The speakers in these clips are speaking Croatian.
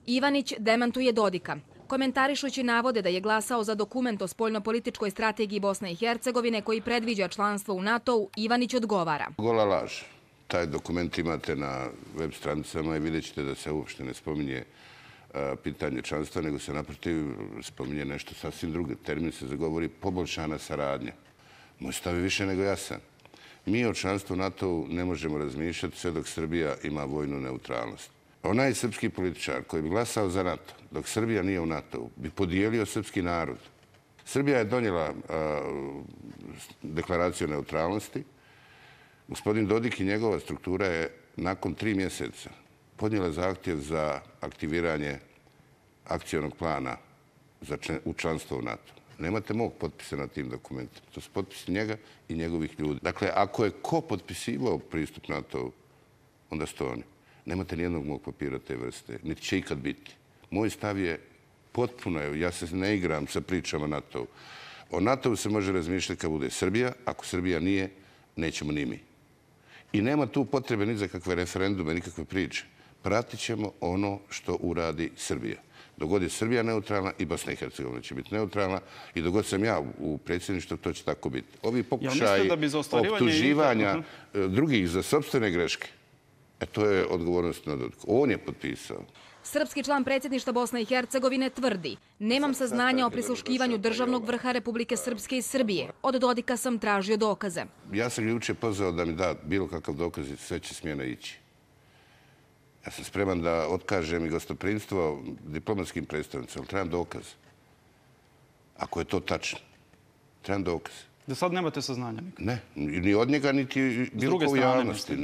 Ivanić demantuje Dodika. Komentarišući navode da je glasao za dokument o spoljnopolitičkoj strategiji Bosne i Hercegovine koji predviđa članstvo u NATO-u, Ivanić odgovara. Gola laž. Taj dokument imate na web stranicama i vidjet ćete da se uopšte ne spominje pitanje članstva, nego se naprotiv spominje nešto sasvim drugo. Termin se zagovori poboljšana saradnja. Moj stav je više nego jasan. Mi o članstvu NATO-u ne možemo razmišljati sve dok Srbija ima vojnu neutralnost. Onaj srpski političar koji bi glasao za NATO, dok Srbija nije u NATO-u, bi podijelio srpski narod. Srbija je donijela deklaraciju o neutralnosti. Gospodin Dodik i njegova struktura je nakon 3 mjeseca podnijela zahtjev za aktiviranje akcionog plana u članstvo u NATO. Nemate mog potpisa na tim dokumentima. To su potpisi njega i njegovih ljudi. Dakle, ako je ko potpisivao pristup NATO-u, onda su to oni. Nemate nijednog mog papira te vrste, niti će ikad biti. Moj stav je potpuno, ja se ne igram sa pričama NATO-u. O NATO-u se može razmišljati kad bude Srbija, ako Srbija nije, nećemo ni mi. I nema tu potrebe ni za kakve referendume, nikakve priče. Pratit ćemo ono što uradi Srbija. Dok god je Srbija neutralna i Bosna i Hercegovina će biti neutralna i dok god sam ja u predsjedništvu, to će tako biti. Ovi pokušaji optuživanja drugih za sopstvene greške, to je odgovornost na Dodiku. On je potpisao. Srpski član predsjedništva Bosne i Hercegovine tvrdi: nemam saznanja o prisluškivanju državnog vrha Republike Srpske i Srbije. Od Dodika sam tražio dokaze. Ja sam ga juče pozvao da mi da bilo kakav dokaz i sve će smjena ići. Ja sam spreman da otkažem i gostoprimstvo diplomatskim predstavnicima, ali trebam dokaz. Ako je to tačno, trebam dokaz. Da sad nemate saznanja? Ne, ni od njega, niti bilo ko u javnosti.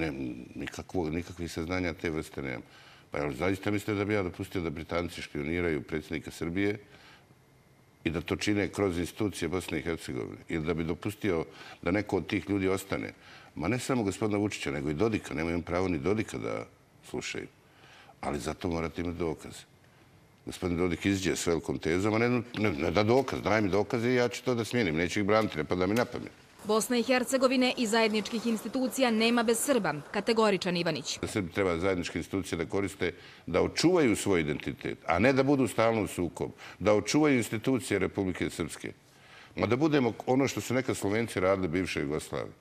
Nikakvih saznanja te vrste nemam. Pa jel zaista mislite da bi ja dopustio da Britanci špioniraju predsjednika Srbije i da to čine kroz institucije Bosne i Hercegovine? Ili da bi dopustio da neko od tih ljudi ostane? Ma ne samo gospodina Vučića, nego i Dodika. Nemaju pravo ni Dodika da slušaju. Ali zato morate imati dokaz. Gospodin Dodik iziđe s velikom tezom, a ne da dokaz. Daj mi dokaze i ja ću to da smijenim. Neću ih braniti, ne pada mi na pamet. Bosna i Hercegovine i zajedničkih institucija nema bez Srba, kategoričan Ivanić. Srbi treba zajedničke institucije da koriste, da očuvaju svoj identitet, a ne da budu stalno u sukobu. Da očuvaju institucije Republike Srpske. Ma da budemo ono što su nekad Slovenci radili bivše Jugoslavije.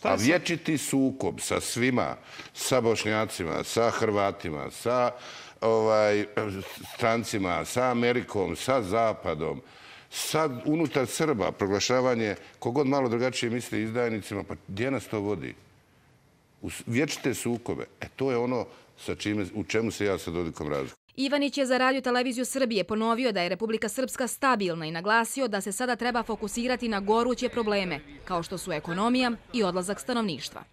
A vječiti sukob sa svima, sa Bošnjacima, sa Hrvatima, sa strancima, sa Amerikom, sa Zapadom, sad unutar Srba proglašavanje kogod malo drugačije misli izdajnicima, pa gdje nas to vodi? Vječite sukobe. To je ono u čemu se ja sa Dodikom razlikujem. Ivanić je za Radio televiziju Srbije ponovio da je Republika Srpska stabilna i naglasio da se sada treba fokusirati na goruće probleme, kao što su ekonomija i odlazak stanovništva.